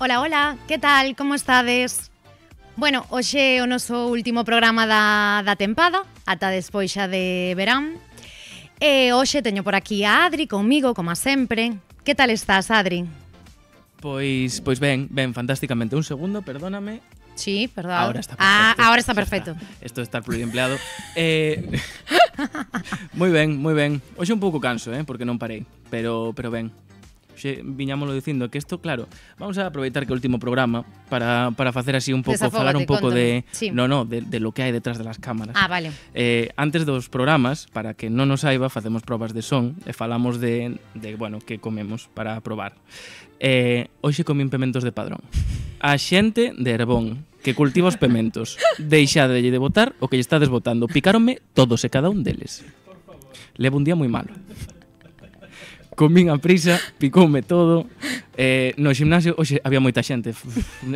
Hola, hola, que tal? Como estades? Bueno, hoxe é o noso último programa da tempada, ata despois xa de verán. E hoxe teño por aquí a Adri comigo, como sempre. Que tal estás, Adri? Pois ben, fantásticamente. Un segundo, perdóname. Sí, perdón. Ahora está perfecto. Ahora está perfecto. Esto de estar pluriempleado. Moi ben. Hoxe un pouco canso, porque non parei, pero ben. Xe viñámoslo dicindo que isto, claro, vamos a aproveitar que é o último programa para facer así un pouco, falar un pouco de, sí. de lo que hai detrás de las cámaras. Ah, vale. Antes dos programas, para que non nos saiba, facemos probas de son e falamos de bueno, que comemos para probar. Hoxe comín pementos de Padrón. A xente de Herbón que cultiva os pementos, deixade de botar o que lle estades botando. Picáronme todos e cada un deles. Levo un día moi malo. Comín a prisa, picoume todo. No gimnasio, hoxe había moita xente,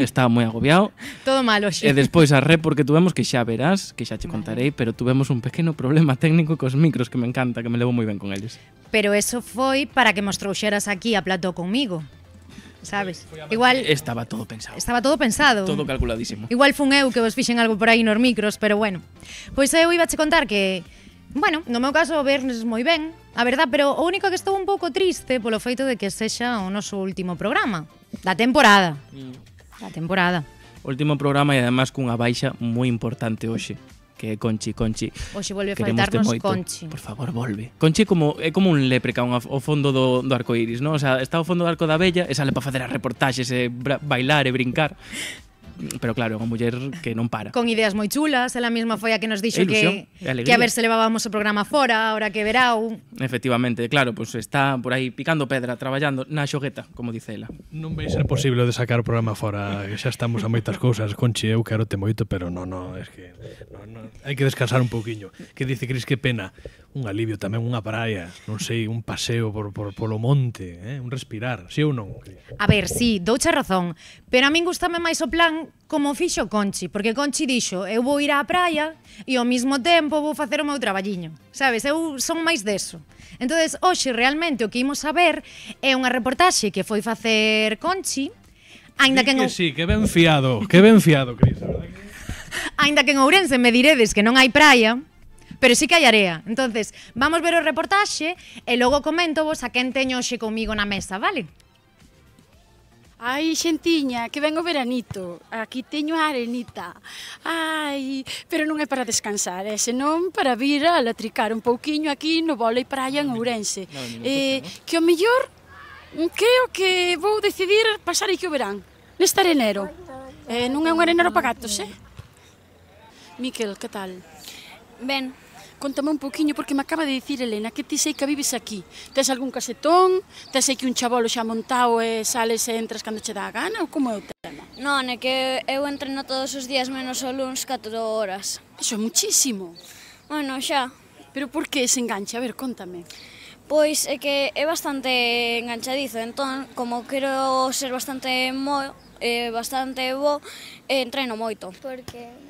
estaba moi agobiado. Todo malo, xe. E despois arré porque tuvemos, que xa verás, que xa che contarei, pero tuvemos un pequeno problema técnico cos micros que me encanta, que me levo moi ben con eles. Pero eso foi para que mos trouxeras aquí a plató conmigo. Sabes? Igual estaba todo pensado. Estaba todo pensado. Todo calculadísimo. Igual fun eu que vos fixen algo por aí nos micros, pero bueno. Pois eu iba che contar que, bueno, no meu caso vernes moi ben, a verdad, pero o único que estou un pouco triste polo feito de que sexa o noso último programa da temporada. Da temporada. Último programa e además cunha baixa moi importante hoxe, que é Conchi. Hoxe volve a faltarnos Conchi. Por favor, volve. Conchi é como un leprecaun ao fondo do arcoíris, non? O sea, está ao fondo do arco da Bella e sale para facer as reportaxes e bailar e brincar. Pero claro, é unha muller que non para. Con ideas moi chulas, ela mesma foi a que nos dixo que a ver se levábamos o programa fora, ahora que verao. Efectivamente, claro, pues está por aí picando pedra, traballando na xogueta, como dice ela. Non vai ser posible de sacar o programa fora, que xa estamos a moitas cousas. Conchi, eu quero te moito, pero non, es que hai que descansar un pouquiño. Que dice Cris, que pena, un alivio tamén, unha praia, non sei, un paseo polo monte, un respirar, si ou non? A ver, sí, douche razón, pero a min gustame máis o plan como fixo Conchi, porque Conchi dixo, eu vou ir á praia e ao mesmo tempo vou facer o meu traballiño, sabes? Eu son máis deso. Entonces, hoxe realmente o que imos a ver é unha reportaxe que foi facer Conchi, aínda que sí, que ben fiado, Cris, a verdade que... Aínda que en Ourense me diredes que non hai praia, pero sí que hai area. Entonces, vamos ver o reportaxe e logo comento vos a quen teño hoxe comigo na mesa, vale? Ai, xentiña, que ven o veranito. Aquí teño a arenita. Ai, pero non é para descansar, senón para vir a latricar un pouquiño aquí no vólei praia en Ourense. Que o mellor creo que vou decidir pasar aquí o verán, neste arenero. Non é un arenero para gatos, Miquel, que tal? Ben. Contame un pouquiño, porque me acaba de dicir Elena que ti sei que vives aquí. Tes algún casetón? Tes aquí un chabolo xa montado e sales e entras cando che dá a gana? Ou como é o tema? Non, é que eu entreno todos os días menos o luns 4 horas. Iso é muchísimo. Bueno, xa. Pero por que ese enganche? A ver, contame. Pois é que é bastante enganchadizo, entón, como quero ser bastante bo, entreno moito. Porque...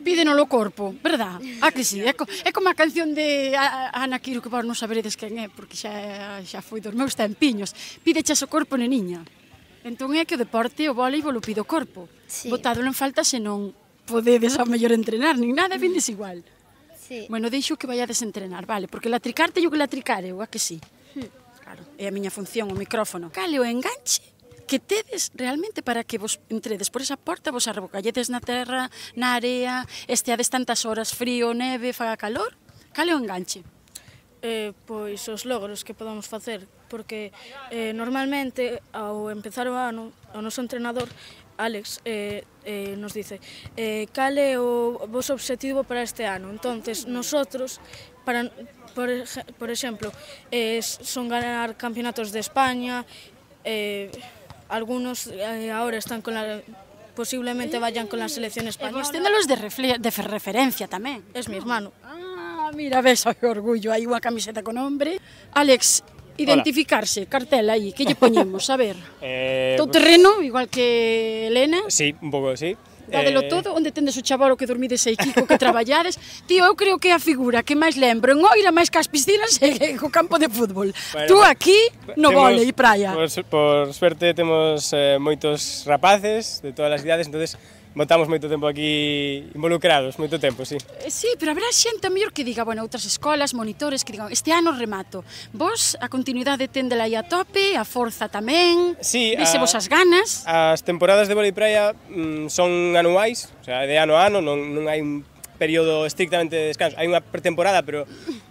Pídeno o corpo, verdad? Ah, que sí, é como a canción de Ana Quiro, que vos non saberedes quen é, porque xa foi dos meus tempiños. Pídeches o corpo, neniña. Entón é que o deporte, o voleibol, o pide o corpo. Sí. Botádolo en falta se non podedes ao mellor entrenar, nin nada, vindes igual. Sí. Bueno, deixo que vayades a entrenar, vale? Porque latricar teño que latricar eu, a que sí? Claro, é a miña función, o micrófono. Cale o enganche que tedes realmente para que vos entredes por esa porta, vos arrebocalledes na terra, na area, esteades tantas horas frío, neve, faga calor? Cale o enganche? Pois os logros que podamos facer, porque normalmente ao empezar o ano, o noso entrenador, Alex, nos dice cal é o vosso obxectivo para este ano. Entonces, nosotros, por exemplo, son ganar campeonatos de España, algunos ahora están posiblemente vayan con la selección española. E vos téndelos de referencia tamén. Es mi hermano. Ah, mira, ves, que orgullo, hai unha camiseta con nombre. Alex, identificarse, cartel aí, que lle poñemos, a ver. Todo terreno, igual que Elena. Sí, un pouco, sí. Dádelo todo, onde tendes o chavalo que dormides aí, Kiko, que traballades. Tío, eu creo que é a figura que máis lembro en Oira, máis que as piscinas e co campo de fútbol. Bueno, Tú aquí, no vole e praia. Por suerte temos moitos rapaces de todas as idades, entonces botamos moito tempo aquí involucrados, moito tempo, sí. Sí, pero habrá xente a mellor que diga, bueno, outras escolas, monitores, que digan, este ano remato. Vos, a continuidade tendela aí a tope, a forza tamén, Sí, vise vos as ganas. As temporadas de vólei praia son anuais, o sea, de ano a ano, non hai un período estrictamente de descanso. Hai unha pretemporada, pero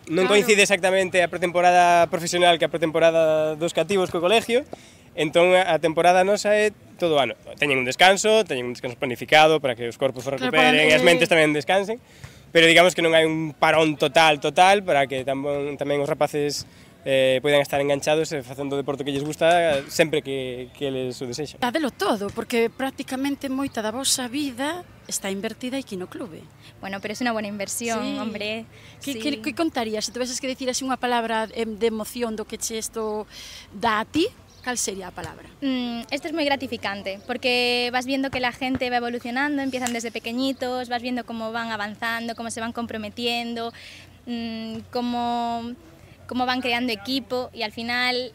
non coincide exactamente a pretemporada profesional que a pretemporada dos cativos co colegio. Entón, a temporada nosa é todo o ano. Teñen un descanso planificado para que os corpos se recuperen e as mentes tamén descansen, pero digamos que non hai un parón total para que tamén os rapaces poidan estar enganchados e facendo o deporte que lles gusta sempre que eles o desexan. Dádelo todo, porque prácticamente moita da vosa vida está invertida aquí no clube. Bueno, pero es una buena inversión, Sí. hombre. Que Sí. contarías? Se tuveses que decir así unha palabra de emoción do que che isto dá a ti, cal sería a palabra? Esto es muy gratificante porque vas viendo que la gente va evolucionando, empiezan desde pequeñitos, vas viendo cómo van avanzando, cómo se van comprometiendo, cómo van creando equipo y al final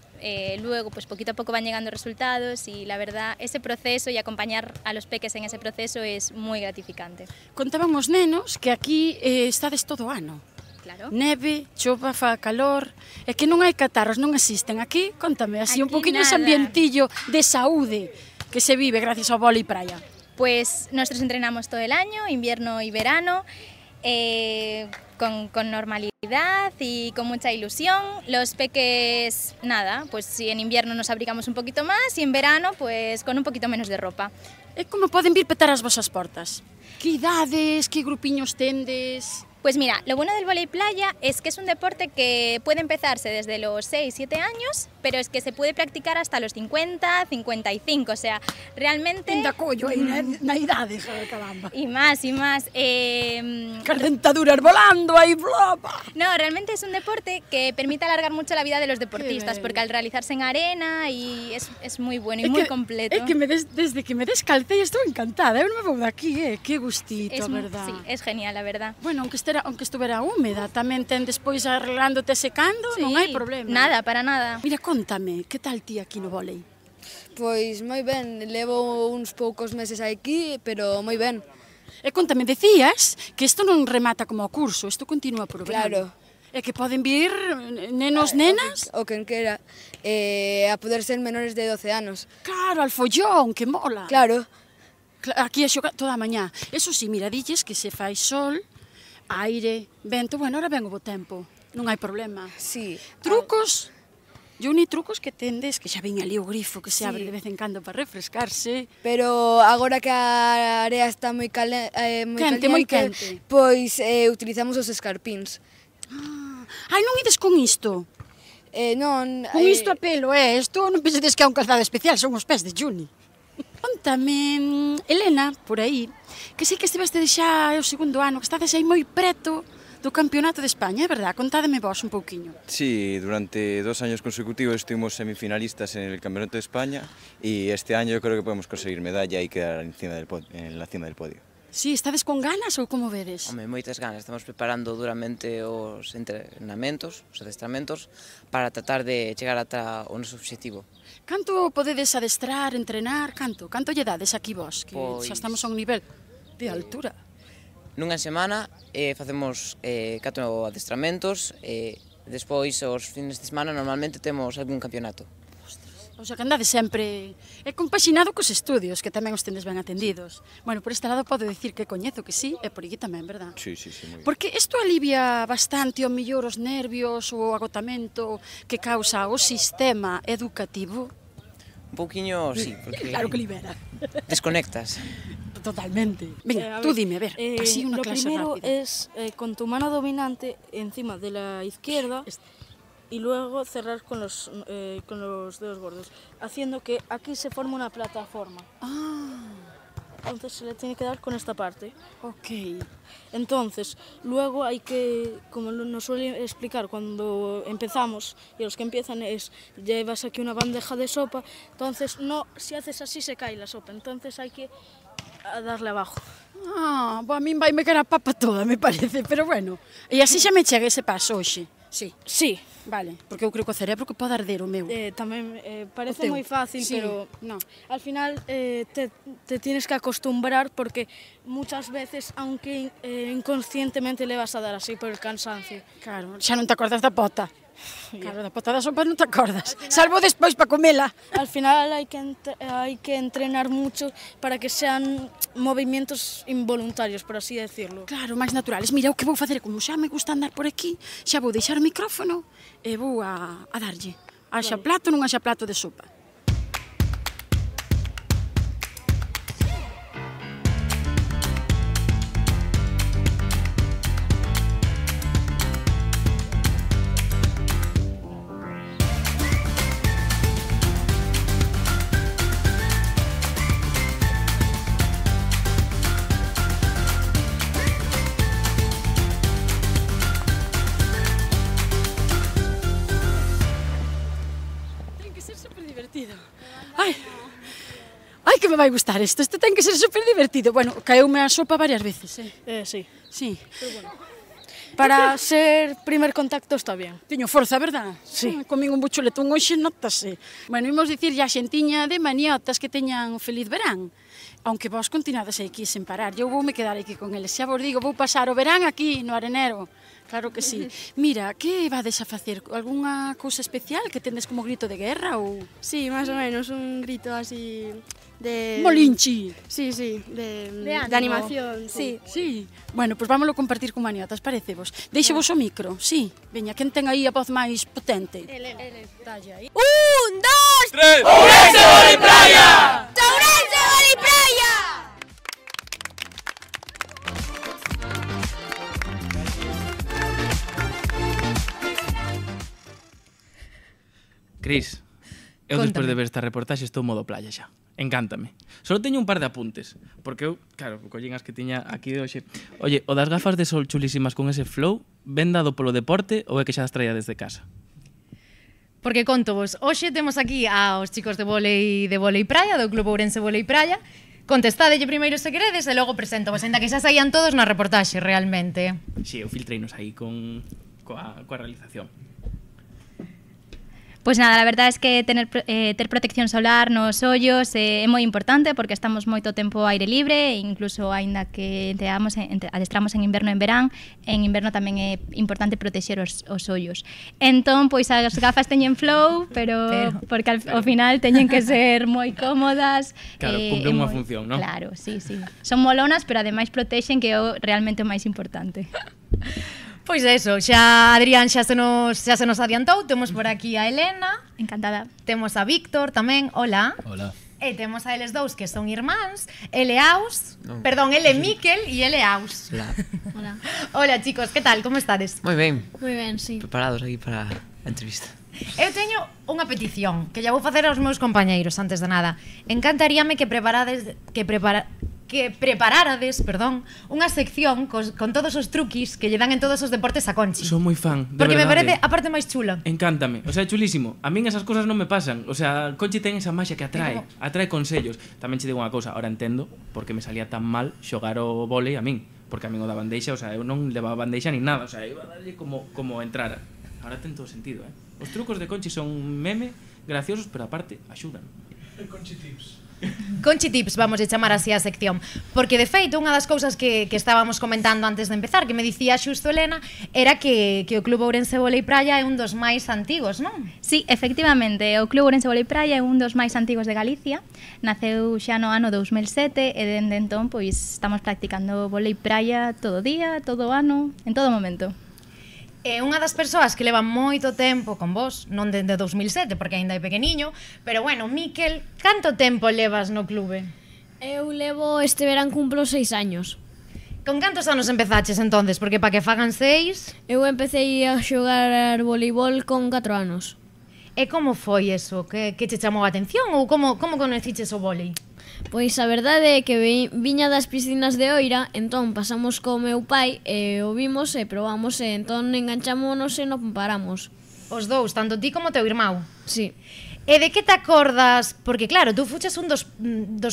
luego pues poquito a poco van llegando resultados y la verdad ese proceso y acompañar a los peques en ese proceso es muy gratificante. Contaban os nenos que aquí estades todo o ano. Claro. Neve, chova, fa calor, e que non hai catarros, non existen. Aquí, contame, así un Aquí poquinho ese nada. ambientillo de saúde que se vive gracias ao vólei praia. Pues nosotros entrenamos todo el año, invierno y verano, con normalidad y con mucha ilusión. Los peques, nada, pues si en invierno nos abrigamos un poquito más y en verano pues con un poquito menos de ropa. E como poden vir petar as vosas portas? Que idades, que grupiños tendes? Pues mira, lo bueno del vóley playa es que es un deporte que puede empezarse desde los 6, 7 años, pero es que se puede practicar hasta los 50, 55, o sea, realmente... Ainda collo aí na idade, joder, caramba. Y más, y más. Calentaduras volando aí, blapa. No, realmente es un deporte que permite alargar mucho la vida de los deportistas, porque al realizarse en arena y es muy bueno y muy completo. É que desde que me descalcei estou encantada, eu non me vou daqui, que gustito, Es, verdad. sí, es genial, la verdad. Bueno, aunque estuvera húmeda, tamén ten despois arreglándote secando, non hai problema. Nada, para nada. Mira, contame, que tal ti aquí no vólei? Pois moi ben, levo uns poucos meses aquí, pero moi ben. E contame, decías que isto non remata como o curso, isto continúa por o Claro. verano. E que poden vir nenos, nenas? O quen quera, a poder ser menores de 12 anos. Claro, al follón, que mola. Claro. Aquí a xogar toda a mañá. Eso sí, mira, dilles que se fai sol, aire, vento, bueno, ahora ven o bo tempo, non hai problema. Sí. Trucos? Juni, trucos que tendes, que xa ven ali o grifo que se Sí. abre de vez en cando para refrescarse. Pero agora que a area está moi Quente, moi quente. Pois utilizamos os escarpíns. Ai, non ides con isto? Non... Con isto a pelo, isto non pensedes que é un calzado especial, son os pés de Juni. Contame, Elena, por aí, que sei que estiveste xa o segundo ano, que estades aí moi preto do Campeonato de España, é verdad? Contádeme vos un pouquiño. Sí, durante 2 años consecutivos estuvimos semifinalistas en el Campeonato de España y este año yo creo que podemos conseguir medalla y quedar en la cima del podio. Sí, estades con ganas ou como vedes? Home, moitas ganas, estamos preparando duramente os entrenamentos, os adestramentos, para tratar de chegar ata o noso obxectivo. Canto podedes adestrar, entrenar, canto? Canto lle dades aquí vos, que Pois... xa estamos a un nivel de altura? Nunha semana facemos 4 adestramentos, despois os fines de semana normalmente temos algún campeonato. O sea, que andades sempre compaxinado cos estudios, que tamén os tendes ben atendidos. Bueno, por este lado podo decir que coñezo que sí, e por aquí tamén, verdad? Sí, sí, sí, moi ben. Porque isto alivia bastante o mellor os nervios, o agotamento que causa o sistema educativo. Un pouquiño, sí, porque... Claro que libera. Desconectas. Totalmente. Venga, tú dime, a ver, así una clase primero rápida. es con tu mano dominante encima de la izquierda y luego cerrar con los dedos gordos, haciendo que aquí se forme una plataforma. Entonces se le tiene que dar con esta parte. Ok. Entonces, luego hay que, como nos suele explicar cuando empezamos, y los que empiezan es, llevas aquí una bandeja de sopa, entonces no, si haces así se cae la sopa, entonces hay que a darle abajo. Ah, a min vai me cara a papa toda, me parece, pero bueno. E así xa me chega ese paso hoxe. Sí. Sí. Vale, porque eu creo que o cerebro que pode arder o meu. Tamén parece moi fácil, sí, pero no. Al final te tienes que acostumbrar porque muchas veces, aunque inconscientemente le vas a dar así por el cansancio. Claro, xa non te acordas da pota. Claro, da pota da sopa non te acordas. Salvo despois para comela. Al final hai que entrenar mucho para que sean movimientos involuntarios, por así decirlo. Claro, máis naturales. Mira, o que vou facer, como xa me gusta andar por aquí, xa vou deixar o micrófono e vou a darlle. Haxa plato, non haxa plato de sopa. Ai, que me vai gustar isto. Isto ten que ser super divertido. Bueno, caeume a sopa varias veces, Sí. Sí. Pero bueno, para ser primer contacto está bien. Teño forza, verdad? Sí. Comín un buchuletón hoxe, notase. Bueno, imos dicir a xentiña de maniotas que teñan feliz verán. Aunque vos continuades aquí sen parar. Eu voume quedar aquí con eles. Xa vos digo, vou pasar o verán aquí, no Arenero. Claro que sí. Mira, que vades a facer? Alguna cousa especial que tendes como grito de guerra ou...? Sí, más o menos, un grito así de... Molinchi. Sí, de ánimo. animación, sí. Sí. Bueno, pois vámoslo compartir con maniotas, parece vos. Deixe vos o micro, sí. Veña, quen ten aí a voz máis potente? Ele, dalle aí. 1, 2, 3. Ourense Vólei Praia! Ourense Vólei Praia! Cris, eu despois de ver esta reportaxe estou modo playa xa. Encántame. Só teño un par de apuntes, porque eu, claro, collín as que tiña aquí de hoxe. Oye, o das gafas de sol chulísimas con ese flow, ben dado polo deporte ou é que xa as traía desde casa? Porque conto vos, hoxe temos aquí aos chicos de Vólei Praia, do Club Ourense Vólei Praia. Contestadelle primeiro se queredes e logo presento vos, ainda que xa saían todos na reportaxe, realmente. Si, eu filtreinos aí coa realización. Pois nada, a verdade é que ter protección solar nos ollos é moi importante porque estamos moito tempo ao aire libre, incluso aínda que adestramos en inverno e en verán, en inverno tamén é importante protexer os ollos. Entón, pois as gafas teñen flow, pero porque ao final teñen que ser moi cómodas. Claro, cumplen unha función, non? Claro, sí. Son molonas, pero ademais protexen, que é realmente o máis importante. Pois eso, xa Adrián xa se nos adiantou. Temos por aquí a Elena. Encantada. Temos a Víctor tamén, hola. Hola. E temos a eles dous que son irmáns. Ele Miquel e ele Aus. Hola. Hola. Hola chicos, que tal? Como estades? Moi ben. Moi ben, sí. Preparados aquí para a entrevista. Eu teño unha petición que lla vou facer aos meus compañeiros antes de nada. Encantaríame que prepararades unha sección con todos os truquis que lle dan en todos os deportes a Conchi. Son moi fan, de porque verdade. Me parece a parte máis chula. Encántame, o sea, é chulísimo. A min esas cousas non me pasan. O sea, Conchi ten esa maxia que atrae consellos. Tamén che digo unha cousa, ahora entendo porque me salía tan mal xogar o vólei a min, porque a min o da bandeixa, o sea, eu non levaba bandeixa nin nada, o sea, iba a darlle como entrara. Ahora ten todo sentido, Os trucos de Conchi son meme, graciosos, pero aparte axudan. Conchi Tips. Conchi Tips, vamos a chamar así a sección. Porque de feito, unha das cousas que estábamos comentando antes de empezar, que me dicía xusto Elena, era que o Club Ourense Vólei Praia é un dos máis antigos, non? Sí, efectivamente, o Club Ourense Vólei Praia é un dos máis antigos de Galicia. Naceu xa no ano 2007 e dende entón pois estamos practicando vólei praia todo día, todo ano, en todo momento. É unha das persoas que leva moito tempo con vos, non dende 2007, porque aínda é pequeniño, pero bueno, Miquel, canto tempo levas no clube? Eu levo este verán cumplo 6 años. Con cantos anos empezaches entonces? Porque para que fagan 6... Eu empecé a xogar voleibol con 4 anos. E como foi eso? Que che chamou a atención? Ou como conociches o vólei? Pois a verdade é que viña das piscinas de Oira, entón pasamos co meu pai e o vimos e probamos e entón enganchámonos e non paramos. Os dous, tanto ti como teu irmão? Sí. E de que te acordas? Porque claro, tú fuches un dos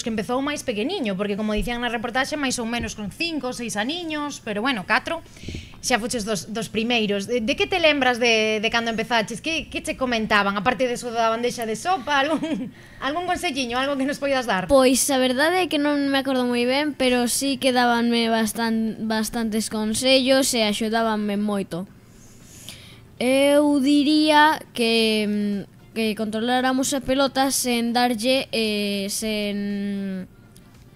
que empezou máis pequeniño, porque como dicían na reportaxe, máis ou menos con 5 ou 6 aniños, pero bueno, 4, xa fuches dos primeiros. De que te lembras de cando empezaches? Que che comentaban? Aparte de eso da bandexa de sopa, algún conselliño, algo que nos poidas dar? Pois a verdade é que non me acordo moi ben, pero sí que dabanme bastantes consellos e axudábanme moito. Eu diría que controláramos a pelota sen darlle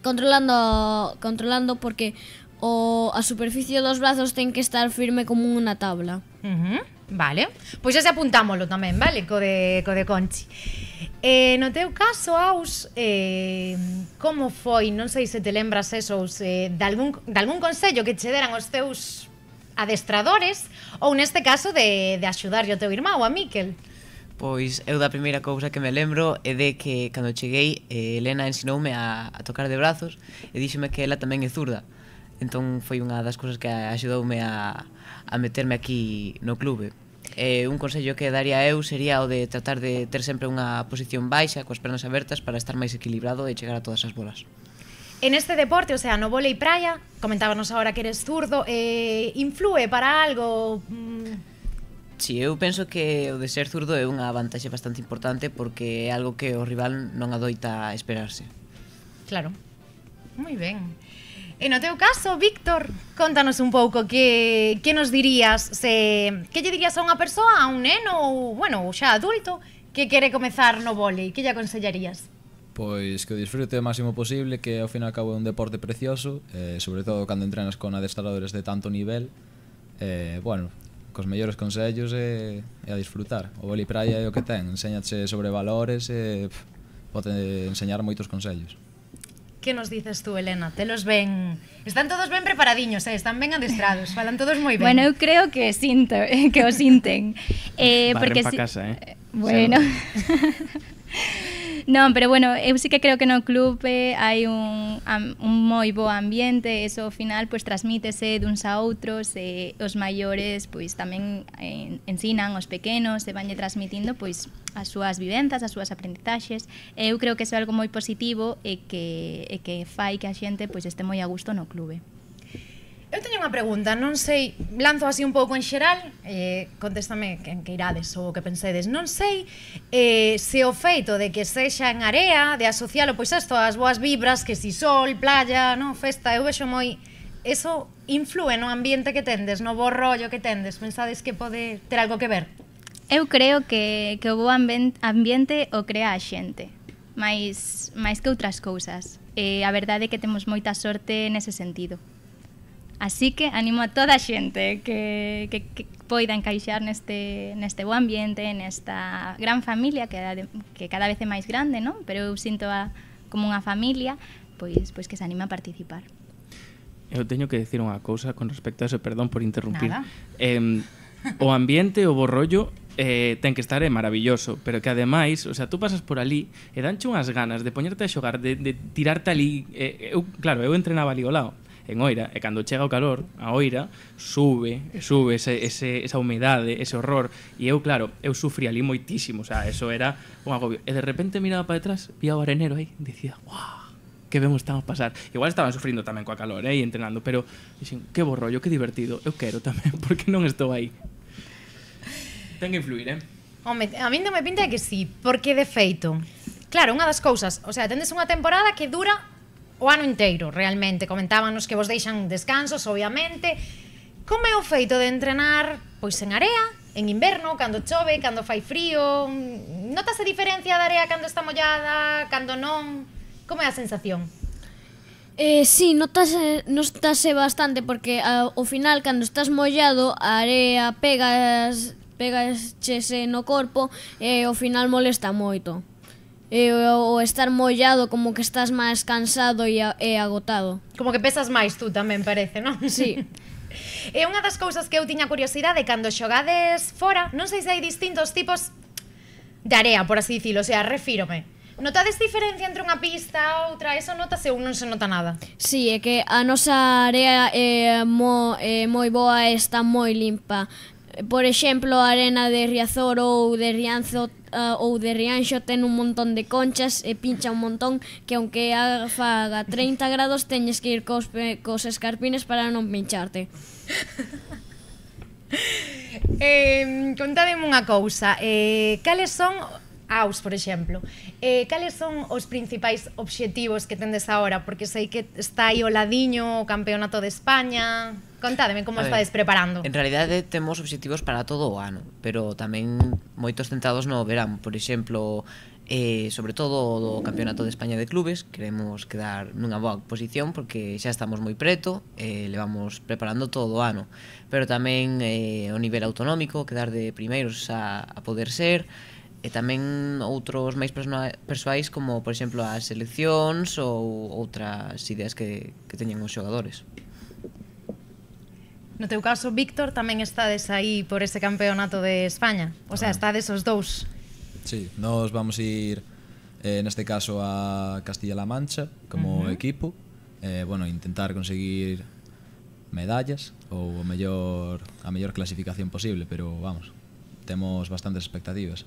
controlando porque a superficie dos brazos ten que estar firme como unha tabla. Vale, pois xa se apuntámolo tamén, vale, co de Conchi. No teu caso, Aus, como foi, non sei se te lembras eso, de algún consello que che deran os teus adestradores ou neste caso de axudarlle o teu irmão, a Miquel? Pois eu da primeira cousa que me lembro é de que cando cheguei Elena ensinoume a tocar de brazos e díxeme que ela tamén é zurda. Entón foi unha das cousas que axudoume a meterme aquí no clube. Un consello que daría eu sería o de tratar de ter sempre unha posición baixa coas pernas abertas para estar máis equilibrado e chegar a todas as bolas. En este deporte, o sea, no vólei praia, comentábanos agora que eres zurdo, inflúe para algo? Si, eu penso que o de ser zurdo é unha vantaxe bastante importante porque é algo que o rival non adoita esperarse. Claro, moi ben. E no teu caso, Víctor, contanos un pouco que nos dirías, que lle dirías a unha persoa, a un neno ou, bueno, xa adulto, que quere comezar no vólei, que lle aconsellarías? Pois que o disfrute o máximo posible, que ao fin e ao cabo é un deporte precioso, sobre todo cando entrenas con adestradores de tanto nivel, bueno, cos mellores consellos e a disfrutar. O vólei praia é o que ten, enséñache sobre valores e pode enseñar moitos consellos. Que nos dices tú, Elena? Telos ben... Están todos ben preparadiños, están ben adestrados, falan todos moi ben. Bueno, eu creo que sinto, que o sinten. Barren pa casa, Bueno... Non, pero bueno, eu sí que creo que no clube hai un moi bo ambiente, eso ao final pois transmítese duns a outros e os maiores pois tamén ensinan aos pequenos e vanlle transmitindo pois as súas vivenzas, as súas aprendizaxes. Eu creo que iso é algo moi positivo e que fai que a xente pois este moi a gusto no clube. Eu teño unha pregunta, non sei, lanzo así un pouco en xeral, contéstame que irades ou o que pensedes. Non sei se o feito de que sexa en area, de asocialo, pois isto, as boas vibras, que si sol, playa, no, festa, eu vexo moi... Eso inflúe no ambiente que tendes, no bo rollo que tendes, pensades que pode ter algo que ver? Eu creo que o bo ambiente o crea a xente, máis que outras cousas. A verdade é que temos moita sorte nese sentido. Así que animo a toda a xente que poida encaixar neste bo ambiente, nesta gran familia que cada vez é máis grande, non? Pero eu sinto como unha familia, pois que se anima a participar. Eu teño que decir unha cousa con respecto a eso, perdón por interrumpir. Nada. O ambiente, o bo rollo, ten que estar maravilloso, pero que ademais, o sea, tú pasas por ali e danche unhas ganas de poñerte a xogar, de tirarte ali. Claro, eu entrenaba ali ao lado, en Oira, e cando chega o calor, a Oira sube esa humedade, ese horror, e eu, claro, eu sufrí ali moitísimo, o sea, eso era un agobio. E de repente miraba para detrás, vía o arenero aí, dicía, guau, que ben estamos pasar. Igual estaban sufrindo tamén coa calor, e entrenando, pero dixen, que bo rollo, que divertido, eu quero tamén, porque non estou aí. Ten que influir, Home, a min non me pinta que sí, porque de feito, claro, unha das cousas, o sea, tendes unha temporada que dura o ano inteiro, realmente. Comentábanos que vos deixan descansos, obviamente. Como é o feito de entrenar pois en area, en inverno, cando chove, cando fai frío? Notase diferencia da area cando está mollada, cando non? Como é a sensación? Sí, notase bastante porque ao final cando estás mollado a area pegaxese no corpo e ao final molesta moito. O estar mollado como que estás máis cansado e agotado. Como que pesas máis tú tamén, parece, non? Sí. E unha das cousas que eu tiña curiosidade cando xogades fora, non sei se hai distintos tipos de area, por así dicilo, o sea, refírome. Notades diferencia entre unha pista e outra? Eso notase ou non se nota nada? Sí, é que a nosa area é moi boa e está moi limpa. por exemplo, a arena de Riazor ou de Rianxo ten un montón de conchas e pincha un montón que aunque faga 30 grados teñes que ir cos escarpines para non pincharte. Contádeme unha cousa, cales son por exemplo, cales son os principais obxectivos que tendes agora? Porque sei que está aí o ladiño o Campeonato de España. Contádeme como estades preparando. En realidade temos obxectivos para todo o ano, pero tamén moitos centrados no verán. Por exemplo, sobre todo do Campeonato de España de Clubes, queremos quedar nunha boa posición porque xa estamos moi preto, levamos preparando todo o ano. Pero tamén o nivel autonómico, quedar de primeiros a poder ser, e tamén outros máis persoais como, por exemplo, as seleccións ou outras ideas que teñen os xogadores. No teu caso, Víctor, tamén estades aí por ese Campeonato de España? O sea, estades os dous? Sí, nos vamos ir, neste caso, a Castilla-La Mancha como equipo, bueno, intentar conseguir medallas ou a mellor clasificación posible, pero vamos, temos bastantes expectativas.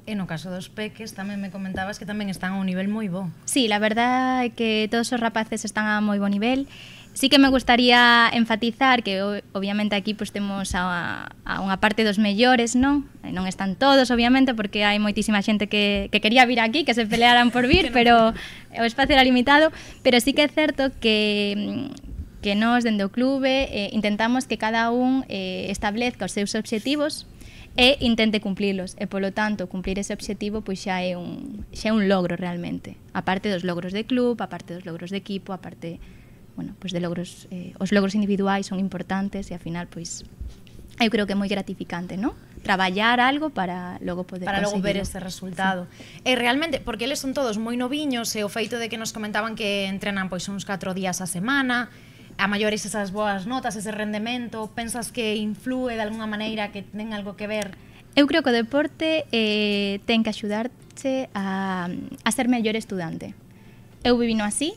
E no caso dos peques tamén me comentabas que tamén están a un nivel moi bo. Sí, la verdad é que todos os rapaces están a moi bo nivel. Sí que me gustaría enfatizar que obviamente aquí pues temos a unha parte dos mellores, non? Non están todos, obviamente, porque hai moitísima xente que quería vir aquí, que se pelearan por vir, pero o espacio era limitado, pero sí que é certo que nós, dende o clube, intentamos que cada un establezca os seus obxectivos e intente cumplilos, e polo tanto cumplir ese obxectivo pois xa é un logro realmente, aparte dos logros de club, aparte dos logros de equipo, aparte, bueno, pois de logros, os logros individuais son importantes e ao final pois eu creo que é moi gratificante, non? Traballar algo para logo poder para logo ver conseguirlo. ese resultado. Sí. E realmente, porque eles son todos moi noviños, e o feito de que nos comentaban que entrenan pois uns 4 días a semana, a maiores esas boas notas, ese rendemento, pensas que inflúe de alguna maneira, que ten algo que ver? Eu creo que o deporte ten que axudarte a ser mellor estudante. Eu vivino así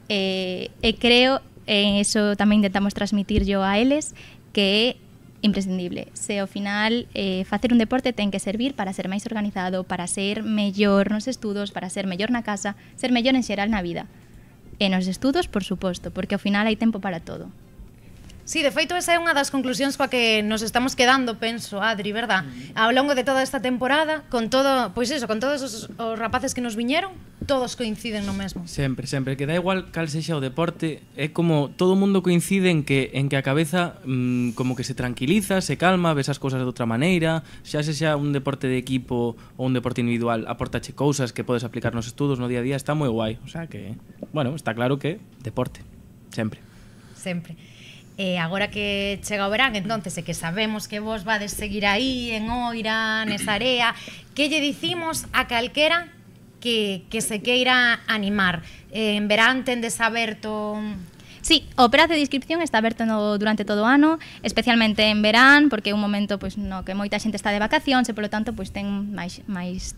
e creo, eso tamén intentamos transmitir yo a eles, que é imprescindible. Se ao final facer un deporte ten que servir para ser máis organizado, para ser mellor nos estudos, para ser mellor na casa, ser mellor en xeral na vida. E nos estudos, por suposto, porque ao final hai tempo para todo. Sí, de feito, esa é unha das conclusións coa que nos estamos quedando, penso, Adri, verdad? Ao longo de toda esta temporada, con todo, pois eso, con todos os rapaces que nos viñeron, todos coinciden no mesmo. Sempre, que da igual cal sexa o deporte, é como todo o mundo coincide en que a cabeza como que se tranquiliza, se calma, ves as cousas de outra maneira, xa sexa un deporte de equipo ou un deporte individual, aportache cousas que podes aplicar nos estudos no día a día, está moi guai, o sea que, bueno, está claro que deporte, sempre. Sempre. E agora que chega o verán, entonces, e que sabemos que vos vades seguir aí en Oira, nesa area, que lle dicimos a calquera que se queira animar? En verán tendes aberto... Sí, o prazo de inscripción está aberto durante todo o ano, especialmente en verán, porque é un momento pois, no que moita xente está de vacacións e, polo tanto, pois, ten máis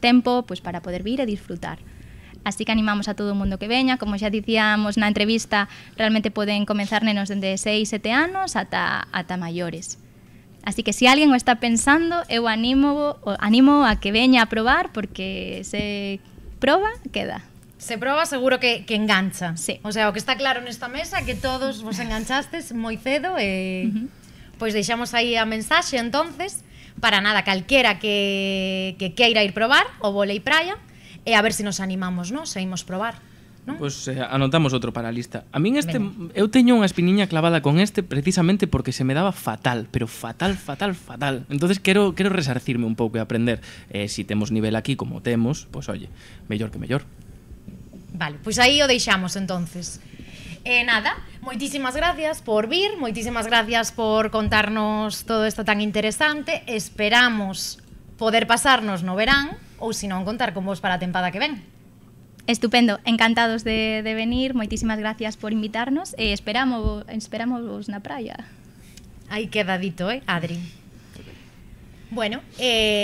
tempo pois, para poder vir e disfrutar. Así que animamos a todo o mundo que veña, como xa dicíamos na entrevista, realmente poden comenzar nenos dende 6-7 anos ata maiores. Así que se alguén o está pensando, eu animo a que veña a probar, porque se proba, queda. Se proba, seguro que engancha. Sí. O sea, o que está claro nesta mesa, que todos vos enganchastes moi cedo e... Pois deixamos aí a mensaxe, entonces, para nada, calquera que queira ir probar o vólei praia, e a ver se nos animamos, non? Se imos probar, non? Pois anotamos outro para a lista. A min eu teño unha espiniña clavada con precisamente porque se me daba fatal, pero fatal. Entonces quero resarcirme un pouco e aprender. Si temos nivel aquí como temos, pois oye, mellor que mellor. Vale, pois aí o deixamos entonces. Nada, moitísimas gracias por vir, moitísimas gracias por contarnos todo isto tan interesante. Esperamos poder pasarnos no verán, ou se non contar con vos para a tempada que ven. Estupendo, encantados de venir, moitísimas gracias por invitarnos e esperamos na praia. Aí queda dito, Adri? Bueno,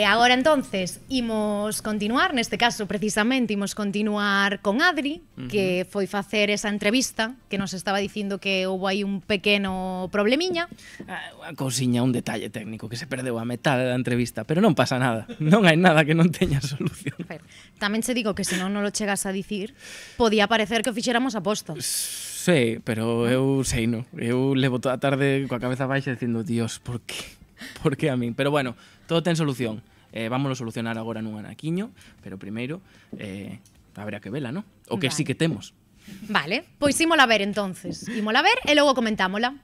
agora entonces imos continuar, neste caso precisamente imos continuar con Adri, que foi facer esa entrevista, que nos estaba dicindo que houve aí un pequeno problemiña. Unha cousiña, un detalle técnico, que se perdeu a metade da entrevista, pero non pasa nada, non hai nada que non teña solución. Tamén se digo que se non lo chegas a dicir, podía parecer que o fixéramos aposta. Sí, pero eu sei, no. Eu levo toda a tarde coa cabeza baixa dicindo, Dios, por qué? Por que a min? Pero bueno, todo ten solución. Vámonos solucionar agora nun anaquiño, pero primeiro habrá que vela, non? O que sí que temos. Vale, pois ímola ver entonces. Ímola ver e logo comentámola.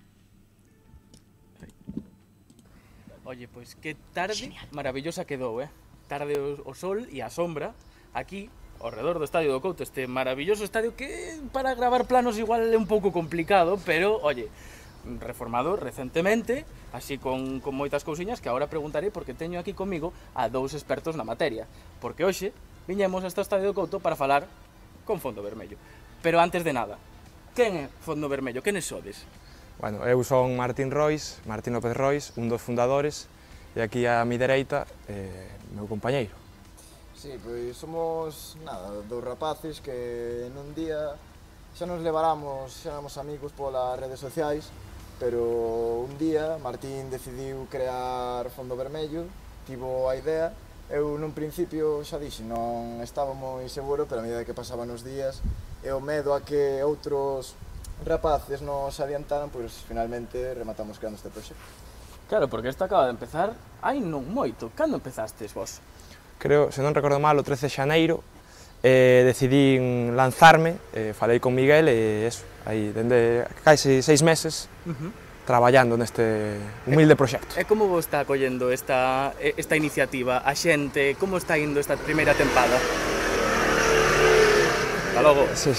Oye, pois que tarde maravillosa quedou, Tarde o sol e a sombra aquí ao redor do Estadio do Couto, este maravilloso estadio que para gravar planos igual é un pouco complicado, pero, oye, reformado recentemente, así con moitas cousiñas que agora preguntaré porque teño aquí comigo a dous expertos na materia, porque hoxe viñemos hasta o Estadio do Couto para falar con Fondo Vermello. Pero antes de nada, quen é Fondo Vermello? Quenes sodes? Bueno, eu son Martín López Rois, un dos fundadores, e aquí a mi dereita, meu compañeiro. Sí, pois somos, dous rapaces que nun día xa nos leváramos, xa éramos amigos polas redes sociais, pero un día Martín decidiu crear Fondo Vermello, tivo a idea, eu nun principio xa dixen, non estaba moi seguro, pero a medida que pasaban os días e o medo a que outros rapaces nos adiantaran, pois finalmente rematamos creando este proxecto. Claro, porque isto acaba de empezar hai non moito. Cando empezastes vos? Creo, se non recordo mal, o 13 de xaneiro, decidín lanzarme, falei con Miguel e eso, aí dende case 6 meses traballando neste humilde proxecto. E como vos está acollendo esta iniciativa? A xente, como está indo esta primeira tempada? Hasta logo. Sí.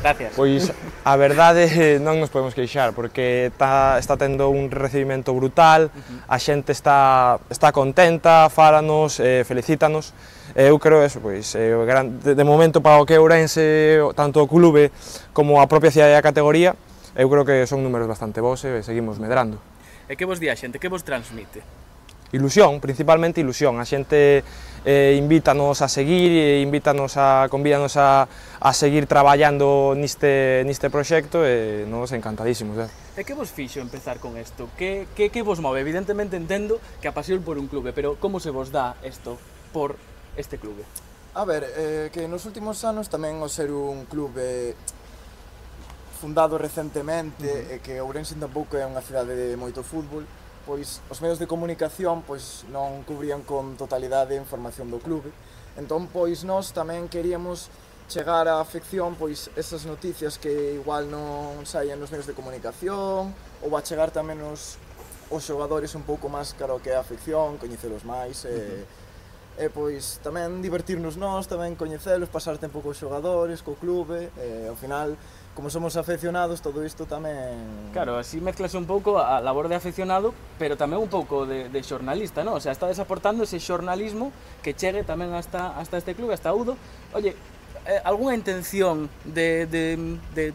Gracias. Pois a verdade non nos podemos queixar porque está tendo un recibimento brutal, a xente está contenta, fálanos, felicítanos. Eu creo eso, pois, de momento para o que é Ourense, tanto o clube como a propia cidade da categoría, eu creo que son números bastante bons e seguimos medrando. E que vos di a xente? Que vos transmite? Ilusión, principalmente ilusión. A xente invítanos a seguir, convídanos a seguir traballando niste proxecto e nos encantadísimos. E que vos fixo empezar con isto? Que vos move? Evidentemente entendo que a pasión por un clube, pero como se vos dá isto por este clube? A ver, que nos últimos anos tamén o ser un clube fundado recentemente e que Ourense tampouco é unha cidade de moito fútbol, pois os medios de comunicación pois non cubrían con totalidade a información do clube. Entón, pois nós tamén queríamos chegar á afección pois esas noticias que igual non saían nos medios de comunicación ou a chegar tamén os xogadores un pouco máis cara ao que é a afección, coñecelos máis e pois tamén divertirnos nós, tamén coñecelos, pasar tempo cos xogadores, co clube e ao final como somos afeccionados, todo isto tamén... Claro, así mezclas un pouco a labor de afeccionado, pero tamén un pouco de xornalista, non? O sea, estades aportando ese xornalismo que chegue tamén hasta este clube, hasta Udo. Oye, algunha intención de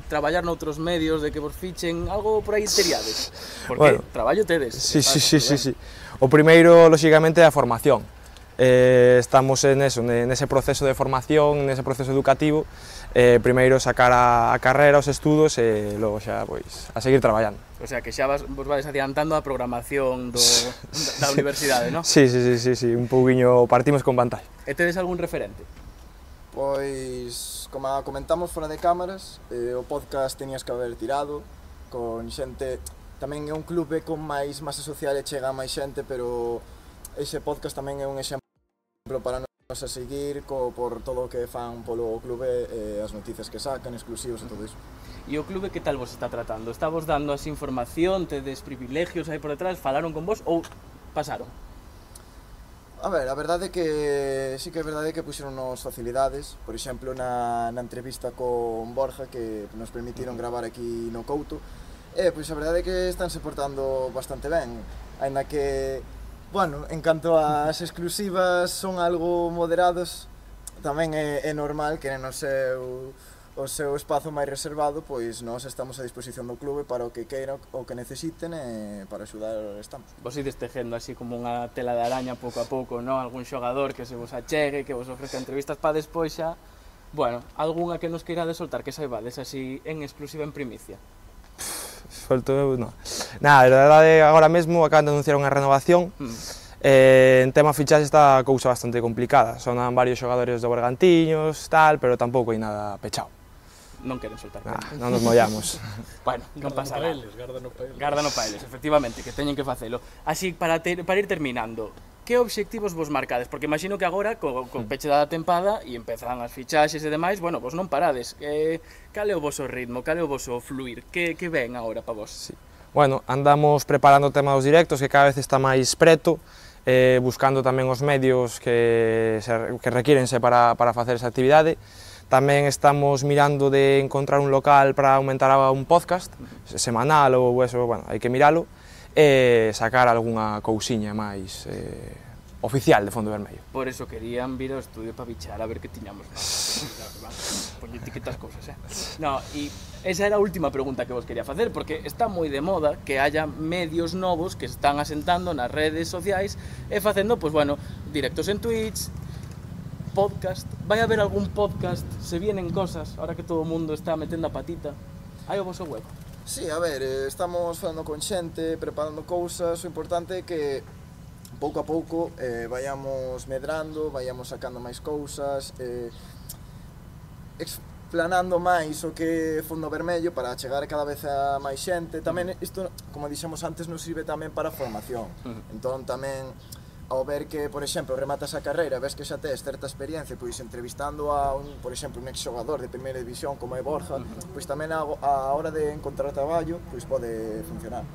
traballar noutros medios, de que vos fichen, algo por aí teriades? Porque traballo tedes. Sí. O primeiro, lóxicamente, é a formación. Estamos nese proceso de formación, nese proceso educativo, primeiro sacar a carrera, os estudos e logo xa a seguir traballando. O sea, que xa vos vais adiantando a programación da universidade, non? Sí, un pouquiño partimos con vantaxe. E tedes algún referente? Pois, como comentamos fora de cámaras, o podcast tenías que haber tirado, con xente, tamén é un clube con máis masa social e chega máis xente, pero ese podcast tamén é un exemplo para nos a seguir por todo o que fan polo clube, as noticias que sacan, exclusivos e todo iso. E o clube que tal vos está tratando? Está vos dando así información, tedes privilegios aí por detrás, falaron con vos ou pasaron? A ver, a verdade é que sí que é verdade que puxeronnos facilidades, por exemplo na entrevista con Borja que nos permitiron gravar aquí no Couto, pois a verdade é que estánse portando bastante ben, aínda que bueno, en canto ás exclusivas son algo moderados, tamén é normal que no seu o seu espazo máis reservado, pois nós estamos a disposición do clube para o que queiran, o que necesiten e para axudar estamos. Vos ides tejendo así como unha tela de araña pouco a pouco, non? Algún xogador que se vos achegue, que vos ofrezca entrevistas para despois xa, bueno, algunha que nos queirades soltar, que saibades así en exclusiva en primicia. Solto eu, non. Nada, a verdade, agora mesmo acaban de anunciar unha renovación. En tema fichaxe está a cousa bastante complicada. Sonan varios xogadores do Bergantiños, tal, pero tampouco hai nada pechado. Non queren soltar. Non nos mollamos. Bueno, non pasa nada. Garda no paeles, efectivamente, que teñen que facelo. Así, para ir terminando, que obxectivos vos marcades? Porque imagino que agora, co peche da tempada, e empezan as fichaxes e demais, bueno, vos non parades. Cal é o voso ritmo, cal é o voso fluir? Que ven agora para vos? Bueno, andamos preparando o tema dos directos, que cada vez está máis preto, buscando tamén os medios que requírense para facer esa actividade. Tamén estamos mirando de encontrar un local para aumentar un podcast semanal ou eso, bueno, hai que miralo e sacar algunha cousiña máis oficial de Fondo Vermello. Por eso querían vir ao estudio para bichar a ver que tiñamos máis. Poñe etiquetas cousas, No, e esa era a última pregunta que vos quería facer, porque está moi de moda que haya medios novos que están asentando nas redes sociais e facendo, pues bueno, directos en Twitch, podcast. Vai haber algún podcast, se vienen cosas, ahora que todo o mundo está metendo a patita, hai o voso web? Sí, a ver, estamos falando con xente, preparando cousas, o importante é que pouco a pouco vayamos medrando, vayamos sacando máis cousas, explanando máis o que é Fondo Vermello para chegar cada vez a máis xente. Tamén isto, como dixemos antes, nos sirve tamén para a formación. Entón tamén, ao ver que, por exemplo, rematas a carreira, ves que xa tes certa experiencia, pois entrevistando a por exemplo, un exxogador de primeira división como é Borja, pois tamén a hora de encontrar traballo, pois pode funcionar.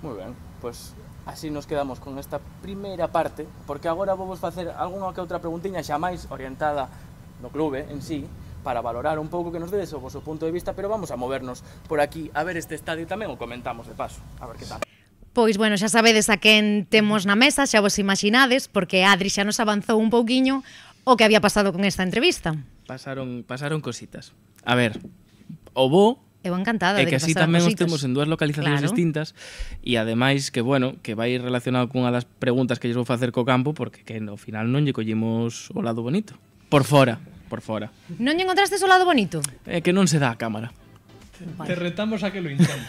Moi ben, pois así nos quedamos con esta primeira parte, porque agora vou vos facer algunha que outra preguntiña xa máis orientada no clube en sí, para valorar un pouco que nos dedes o voso punto de vista, pero vamos a movernos por aquí a ver este estadio tamén, o comentamos de paso, a ver que tal. Pois, bueno, xa sabedes a quen temos na mesa, xa vos imaginades, porque Adri xa nos avanzou un pouquiño o que había pasado con esta entrevista. Pasaron cositas. A ver, o bo eu encantada de que así tamén os temos en dúas localizacións distintas e ademais que, bueno, que vai relacionado cunha das preguntas que lles vou facer co campo, porque que no final non lle collimos o lado bonito. Por fora. Non lle encontrastes o lado bonito? Que non se dá a cámara. Te retamos a que lo intentes.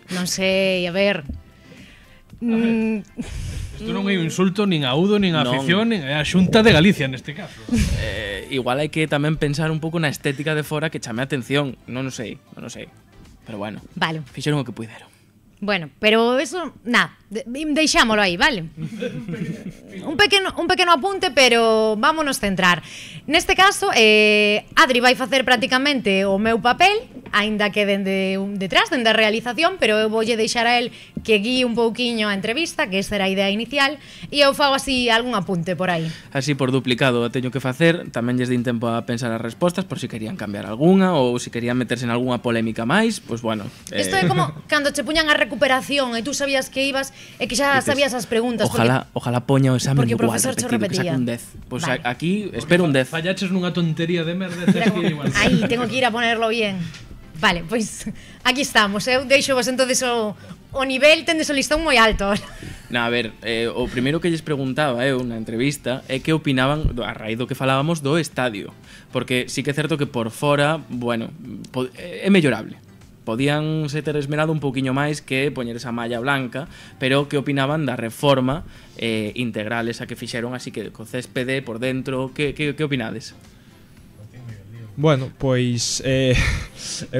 Non sei, a ver... Isto non é un insulto nin a Udo, nin a afición, nin a Xunta de Galicia neste caso. Igual hai que tamén pensar un pouco na estética de fora que chame a atención. Non o sei. Pero bueno, vale. Fixeron o que puideron. Bueno, pero eso, nada, deixámolo aí, vale? Un pequeno apunte, pero vámonos centrar. Neste caso, Adri vai facer prácticamente o meu papel, aínda que dende detrás, dende a realización, pero eu voulle deixar a él que guíe un pouquiño a entrevista, que esa era a idea inicial, e eu fago así algún apunte por aí. Así por duplicado a teño que facer, tamén lles din tempo a pensar as respostas, por si querían cambiar algunha, ou si querían meterse en algunha polémica máis, pois bueno. Isto é como cando che puñan a recuperación e tú sabías que ibas e que xa sabías as preguntas. Ojalá poña o examen igual, repetido, que saque un 10. Pois aquí espero un 10. Fallaches nunha tontería de merda. Aí, tengo que ir a ponerlo bien. Vale, pois aquí estamos. Eu deixo vos entonces o nivel, tendes o listón moi alto. A ver, o primeiro que lles preguntaba eu na entrevista é que opinaban a raíz do que falábamos do estadio, porque sí que é certo que por fora, bueno, é mellorable. Podían se ter esmerado un pouquiño máis que poñer esa malla blanca, pero que opinaban da reforma integral esa que fixeron, así que co céspede por dentro, que opinades? Bueno, pois é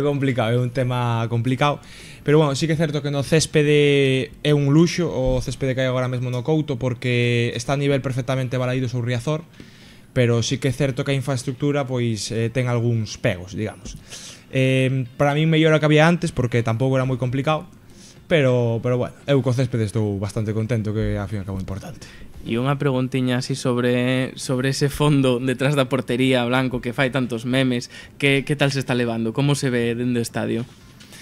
complicado, é un tema complicado, pero bueno, sí que é certo que no céspede é un luxo o céspede que hai agora mesmo no Couto, porque está a nivel perfectamente balaído sobre Riazor, pero sí que é certo que a infraestructura pois ten algúns pegos, digamos. Para mí mellor a que había antes, porque tampouco era moi complicado, pero bueno, eu co céspede estou bastante contento, que a fin acabo importante. E unha preguntiña así sobre ese fondo detrás da portería blanco que fai tantos memes, que tal se está levando? Como se ve dende o estadio?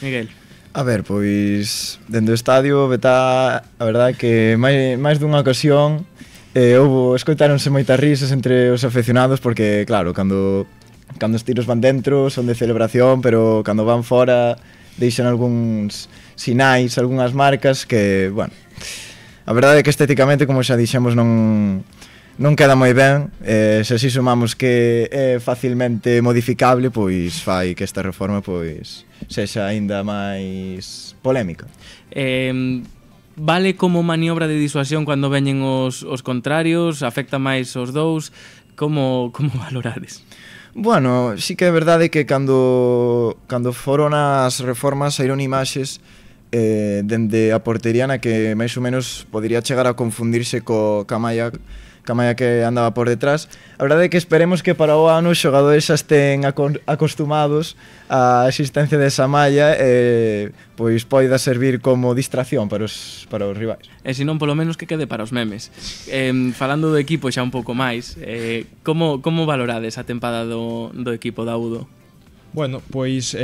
Miguel. A ver, pois dende o estadio veta, a verdade que máis dunha ocasión escoitáronse moitas risas entre os aficionados, porque claro, cando cando os tiros van dentro son de celebración, pero cando van fora deixan algúns sinais, algunhas marcas que, bueno, a verdade é que estéticamente, como xa dixemos, non queda moi ben. Se así sumamos que é facilmente modificable, pois fai que esta reforma pois sexa aínda máis polémica. Vale como maniobra de disuasión cando veñen os contrarios? Afecta máis os dous? Como valorades? Bueno, sí que é verdade que cando foron as reformas saíron imaxes dende a portería na que máis ou menos podría chegar a confundirse ca malla que andaba por detrás. A verdade é que esperemos que para o ano os xogadores xa estén acostumados á existencia desa malla e pois poida servir como distracción para os rivais. E se non, polo menos que quede para os memes. Falando do equipo xa un pouco máis, como valorades a tempada do equipo da Udo? Bueno, pois,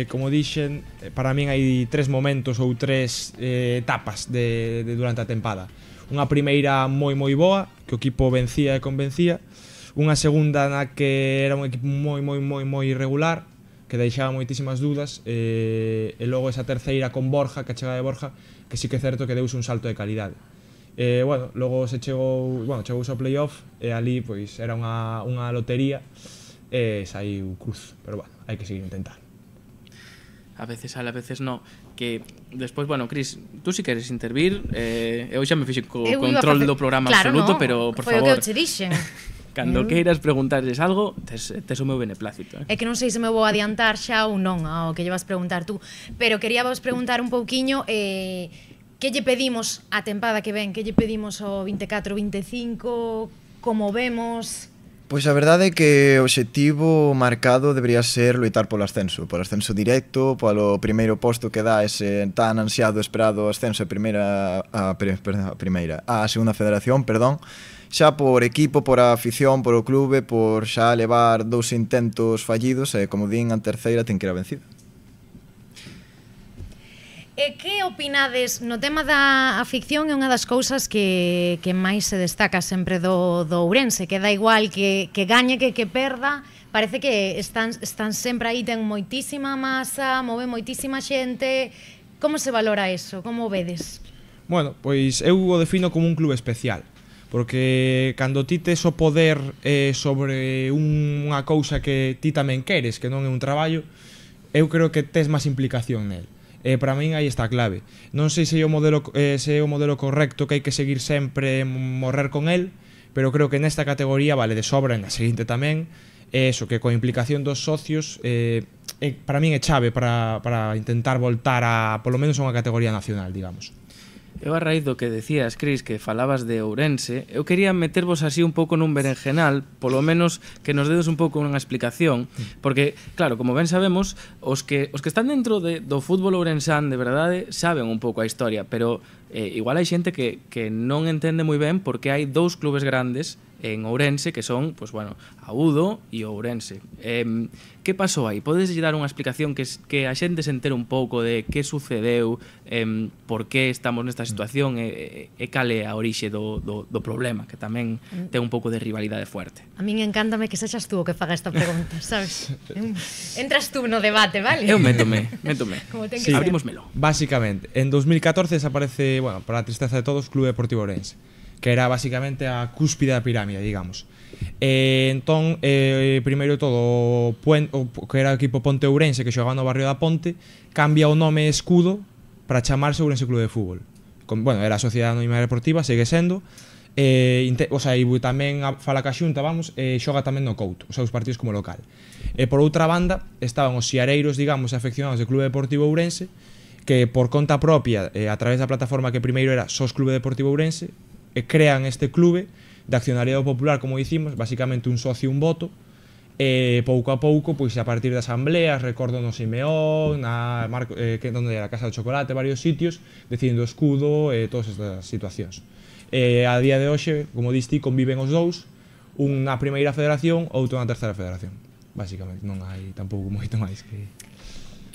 como dixen, para min hai 3 momentos ou 3 etapas durante a tempada. Unha primeira moi boa, que o equipo vencía e convencía. Unha segunda na que era un equipo moi irregular, que deixaba moitísimas dudas. E logo esa terceira con Borja, que a chegada de Borja, que sí que é certo que deuse un salto de calidade. Bueno, logo chegouse ao playoff e ali pois era unha lotería e saiu cruz, pero bueno, hai que seguir intentando. A veces sale, a veces no. Que despois, bueno, Cris, tú si queres intervir, eu xa me fixe co control do programa absoluto, pero por favor, foi o que eu che dixen. Cando queiras preguntarles algo, tes o meu beneplácito. É que non sei se me vou adiantar xa ou non ao que lle vas preguntar tú, pero quería vos preguntar un pouquiño que lle pedimos a tempada que ven, que lle pedimos ao 24-25, como vemos... Pois a verdade é que o obxectivo marcado debería ser loitar polo ascenso directo, polo primeiro posto que dá ese tan ansiado esperado ascenso a segunda federación, xa por equipo, por a afición, por o clube, por xa levar 2 intentos fallidos e, como din, a terceira ten que ir a vencida. E que opinades no tema da ficción? É unha das cousas que máis se destaca sempre do Ourense, que dá igual que gañe que perda, parece que están sempre aí, ten moitísima masa, move moitísima xente. Como se valora eso? Como o vedes? Bueno, pois eu o defino como un clube especial, porque cando ti tes o poder sobre unha cousa que ti tamén queres, que non é un traballo, eu creo que tes máis implicación nel. Para min aí está a clave. Non sei se é o modelo correcto, que hai que seguir sempre morrer con el, pero creo que nesta categoría vale de sobra, en a seguinte tamén, eso, que coa implicación dos socios para min é chave para intentar voltar a polo menos a unha categoría nacional, digamos. Eu a raíz do que decías, Cris, que falabas de Ourense, eu quería metervos así un pouco nun berenjenal, polo menos que nos dedes un pouco unha explicación, porque, claro, como ben sabemos, os que están dentro do fútbol ourensán de verdade saben un pouco a historia, pero igual hai xente que non entende moi ben porque hai 2 clubes grandes en Ourense que son, pues bueno, a Udo e o Ourense. Que pasou aí? Podes dar unha explicación que a xente se entere un pouco de que sucedeu, por que estamos nesta situación e cal é a orixe do problema, que tamén ten un pouco de rivalidade fuerte. A min encántame que sexas tú o que faga esta pregunta, sabes? Entras tú no debate, vale? Eu métome. Sí, abrímosmelo. Básicamente, en 2014 desaparece, bueno, para a tristeza de todos, Clube Deportivo Ourense, que era basicamente a cúspide da pirámide, digamos. Entón, primeiro todo, que era o equipo Ponte Ourense, que xogaba no barrio da Ponte, cambia o nome e escudo para chamarse Ourense Clube de Fútbol. Bueno, era a Sociedade Anónima Deportiva, segue sendo, o sea, e tamén fala ca Xunta, xoga tamén no Couto, os seus partidos como local. Por outra banda, estaban os xiareiros, digamos, afeccionados do Clube Deportivo Ourense, que por conta propia, a través da plataforma que primeiro era SOS Clube Deportivo Ourense, crean este clube de accionariado popular, como dicimos, basicamente un socio, un voto, e pouco a pouco, pois a partir de asambleas, recordo no Simeón, onde era a Casa do Chocolate, varios sitios, decidindo o escudo e todas estas situacións. A día de hoxe, como diste, conviven os dous, un na primeira federación, outro na terceira federación. Basicamente, non hai tampouco moito máis que...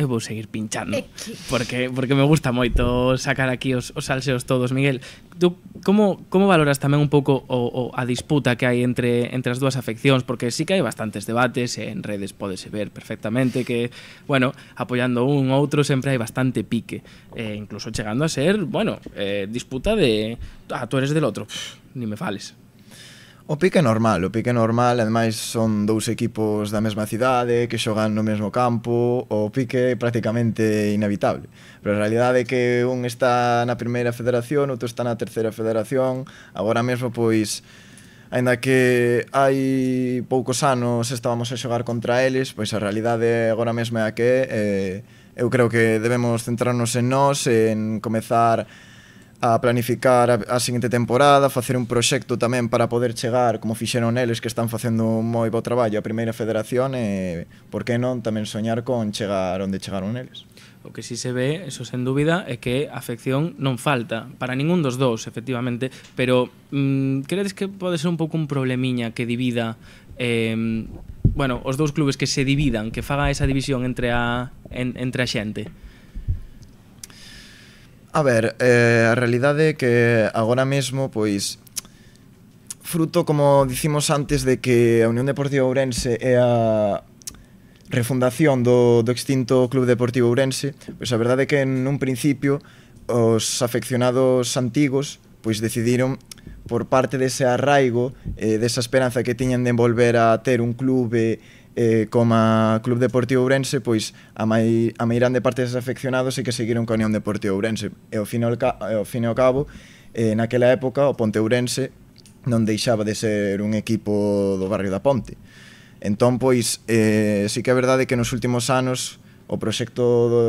eu vou seguir pinchando porque me gusta moito sacar aquí os salseos todos. Miguel, tú como valoras tamén un pouco a disputa que hai entre as dúas afeccións? Porque sí que hai bastantes debates, en redes pódese ver perfectamente que, bueno, apoiando un ou outro sempre hai bastante pique, incluso chegando a ser, bueno, disputa de tú eres del outro, ni me fales. O pique é normal, ademais son dous equipos da mesma cidade que xogan no mesmo campo, o pique é prácticamente inevitable. Pero a realidade é que un está na primeira federación, outro está na terceira federación, agora mesmo pois, aínda que hai poucos anos estábamos a xogar contra eles, pois a realidade agora mesmo é a que eu creo que debemos centrarnos en nós, en comezar a planificar a seguinte temporada, facer un proxecto tamén para poder chegar, como fixeron eles que están facendo un moi bo traballo a primeira federación, e por que non tamén soñar con chegar onde chegaron eles. O que si se ve, eso sen dúbida, é que a afección non falta para ningún dos dous, efectivamente, pero credes que pode ser un pouco un problemiña que divida bueno, os dous clubes, que se dividan, que faga esa división entre a xente? A ver, a realidade é que agora mesmo, pois, fruto, como dicimos antes, de que a Unión Deportiva Ourense é a refundación do extinto Club Deportivo Ourense, pois a verdade é que en un principio os afeccionados antigos pois decidiron, por parte dese arraigo, desa esperanza que tiñan de volver a ter un clube como a Club Deportivo Ourense, pois a meirande parte deses afeccionados e que seguiron coa Unión Deportiva Ourense. E ao fin e ao cabo, naquela época, o Ponte Ourense non deixaba de ser un equipo do barrio da Ponte. Entón, pois, sí que é verdade que nos últimos anos o proxecto do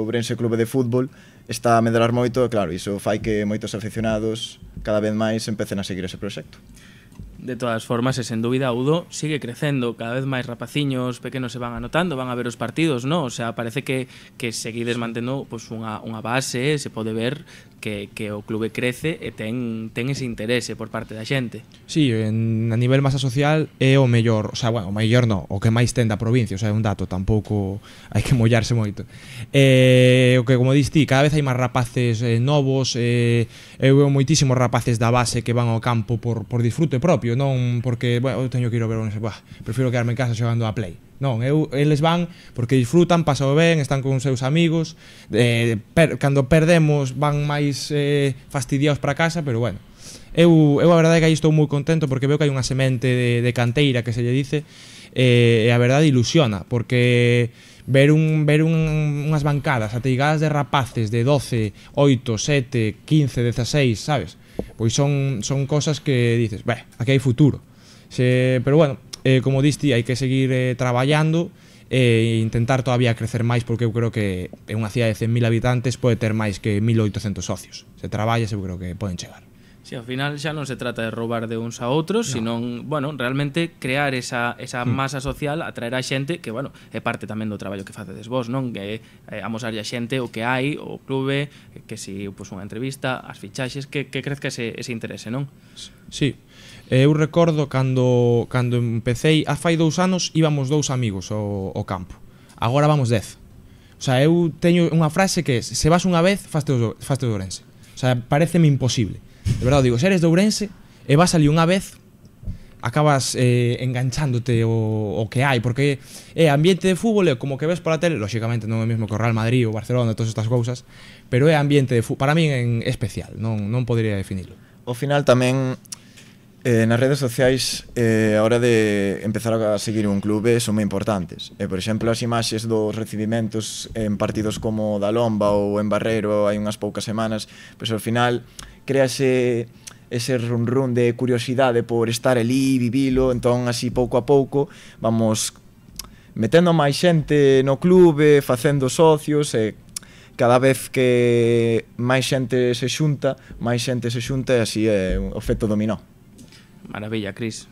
Ourense Clube de Fútbol está a medrar moito, e claro, iso fai que moitos afeccionados cada vez máis empecen a seguir ese proxecto. De todas formas, e sen dúbida, Udo sigue crecendo, cada vez máis rapaciños pequenos se van anotando, van a ver os partidos, ¿no? O sea, parece que seguides mantendo pues, unha base, se pode ver que o clube crece e ten ese interese por parte da xente. Sí, a nivel masa social é o mellor, o sea, bueno, o mellor non, o que máis ten da provincia, o sea, é un dato, tampouco hai que mollarse moito. O que, como diste, cada vez hai máis rapaces novos, eu veo moitísimos rapaces da base que van ao campo por disfrute propio, non porque, bueno, eu teño que ir a ver prefiro quedarme en casa xogando a Play. Non, eles van porque disfrutan, pasao ben, están con os seus amigos, cando perdemos van máis fastidiados para casa, pero bueno, eu a verdade é que aí estou moi contento porque veo que hai unha semente de canteira que se lle dice, e a verdade ilusiona, porque ver unhas bancadas ateigadas de rapaces de 12, 8, 7, 15, 16, sabes? Pois son cosas que dices, aquí hai futuro. Pero bueno, como diste, hai que seguir traballando e intentar todavía crecer máis, porque eu creo que en unha cidade de 100.000 habitantes pode ter máis que 1.800 socios. Se traballa, eu creo que poden chegar. Si, ao final xa non se trata de roubar de uns a outros, senón, bueno, realmente crear esa masa social, atraer a xente, que, bueno, é parte tamén do traballo que facedes vos, non? Que amosarlle a xente o que hai, o clube, que si, pois, unha entrevista, as fichaxes, que crezca ese interese, non? Sí. Eu recordo cando empecéi, fai 2 anos, íbamos 2 amigos ao campo. Agora vamos 10. O sea, eu teño unha frase que é: se vas unha vez, faste de Ourense. O sea, pareceme imposible. De verdade, digo, se eres de Ourense e vas ali unha vez, acabas enganchándote o que hai, porque é ambiente de fútbol, é como que ves pola tele, lóxicamente non é o mesmo que o Real Madrid ou Barcelona, todas estas cousas, pero é ambiente de fútbol, para min é especial, non podería definirlo. Ao final tamén nas redes sociais a hora de empezar a seguir un clube son moi importantes. Por exemplo, as imaxes dos recibimentos en partidos como da Lomba ou en Barreiro hai unhas poucas semanas, pois ao final créase ese run de curiosidade por estar ali, vivilo, entón así pouco a pouco vamos metendo máis xente no clube, facendo socios, e cada vez que máis xente se xunta e así é o efecto dominó. Maravilla, Cris.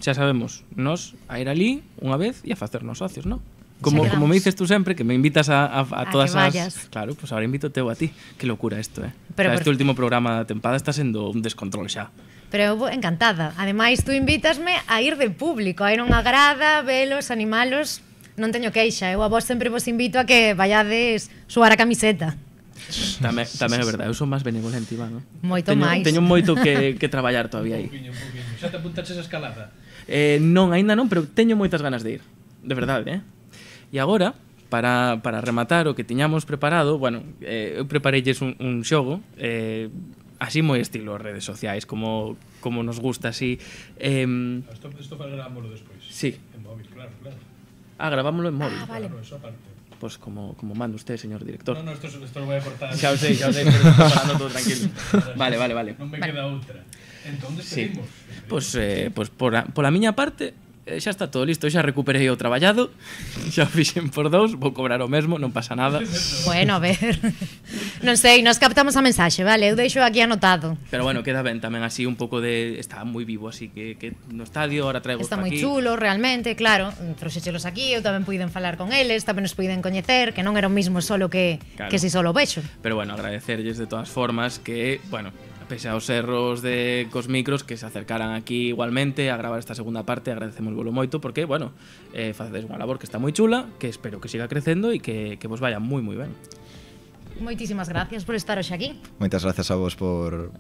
Xa sabemos, nos a ir ali unha vez e a facernos socios, non? Como me dices tú sempre, que me invitas a todas as... Claro, pues ahora invito teu a ti. Que locura isto, Pero este último programa da tempada está sendo un descontrol xa. Pero eu encantada. Ademais, tú invítasme a ir de público, a ir a unha grada, velos, animalos... non teño queixa. Eu a vos sempre vos invito a que vayades suar a camiseta. Tamén é verdade, eu son máis benevolente, Iván. Moito máis. Teño moito que traballar todavía aí. Xa te apuntaches a escalada? Non, aínda non, pero teño moitas ganas de ir. De verdade, E agora, para rematar o que tiñamos preparado, bueno, eu prepareilles un xogo, así moi estilo redes sociais, como nos gusta, así. Isto gravámoslo despois. Sí. En móvil, claro. Gravámoslo en móvil. Vale. Claro, eso aparte. Pues como manda usted, señor director. No, esto lo voy a cortar. Xa o sei, pero estoy falando todo tranquilo. Vale. Non me queda outra. Entón, despedimos. Pues pola miña parte, xa está todo listo, xa recuperei o traballado, xa fixen por 2, vou cobrar o mesmo, non pasa nada. Bueno, a ver, non sei, nos captamos a mensaxe, vale, eu deixo aquí anotado. Pero bueno, queda ben tamén así un pouco de... Está moi vivo, así que no estadio, ahora traigo Está aquí. moi chulo, realmente, claro, trouxechelos aquí, eu tamén puiden falar con eles, tamén nos puiden coñecer, que non era o mismo solo que si solo vexo. Pero bueno, agradecerlles de todas formas que, bueno, pese aos erros de cos micros, que se acercaran aquí igualmente a gravar esta segunda parte, agradecemos moito porque, bueno, facedes unha labor que está moi chula, que espero que siga crecendo e que vos vaya moi ben. Moitísimas gracias por estar hoxe aquí. Moitas gracias a vos por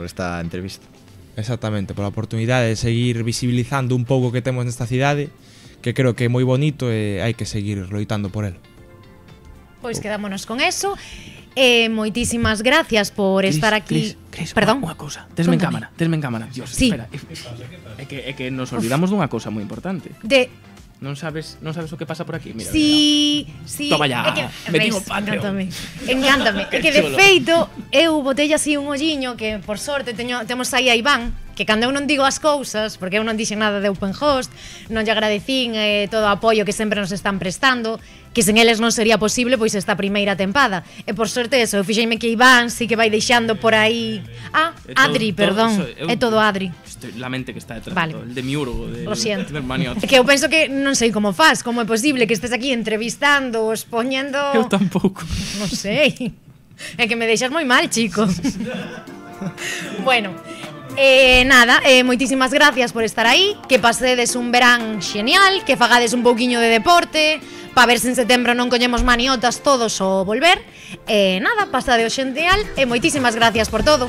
esta entrevista. Exactamente, por a oportunidade de seguir visibilizando un pouco que temos nesta cidade, que creo que é moi bonito e hai que seguir loitando por el. Pois quedámonos con eso. Moitísimas gracias por estar aquí. Cris, perdón. Unha cousa. Tesme en cámara. Dios, sí. Espera. É que nos olvidamos dunha cousa moi importante. Non sabes o que pasa por aquí? Mira. Sí. Toma ya. Metimos Patreon. Encántame. É que de feito eu botei así un olliño que por sorte temos aí a Iván, que cando eu non digo as cousas, porque eu non dixen nada de Open Host, non lle agradecín todo o apoio que sempre nos están prestando, que sen eles non sería posible pois esta primeira tempada. E por sorte eso, eu fixeime que Iván sí que vai deixando por aí. Adri, perdón. É todo Adri. La mente que está detrás, vale. El demiurgo Lo siento. É que eu penso que non sei como faz, como é posible que estés aquí entrevistando, expoñendo... Eu tampouco. Non sei. É que me deixas moi mal, chico. Bueno, nada, moitísimas gracias por estar aí, que pasedes un verán xenial, que fagades un pouquiño de deporte, para ver se en setembro non coñemos maniotas todos o volver. Nada, pasade o xenial e moitísimas gracias por todo.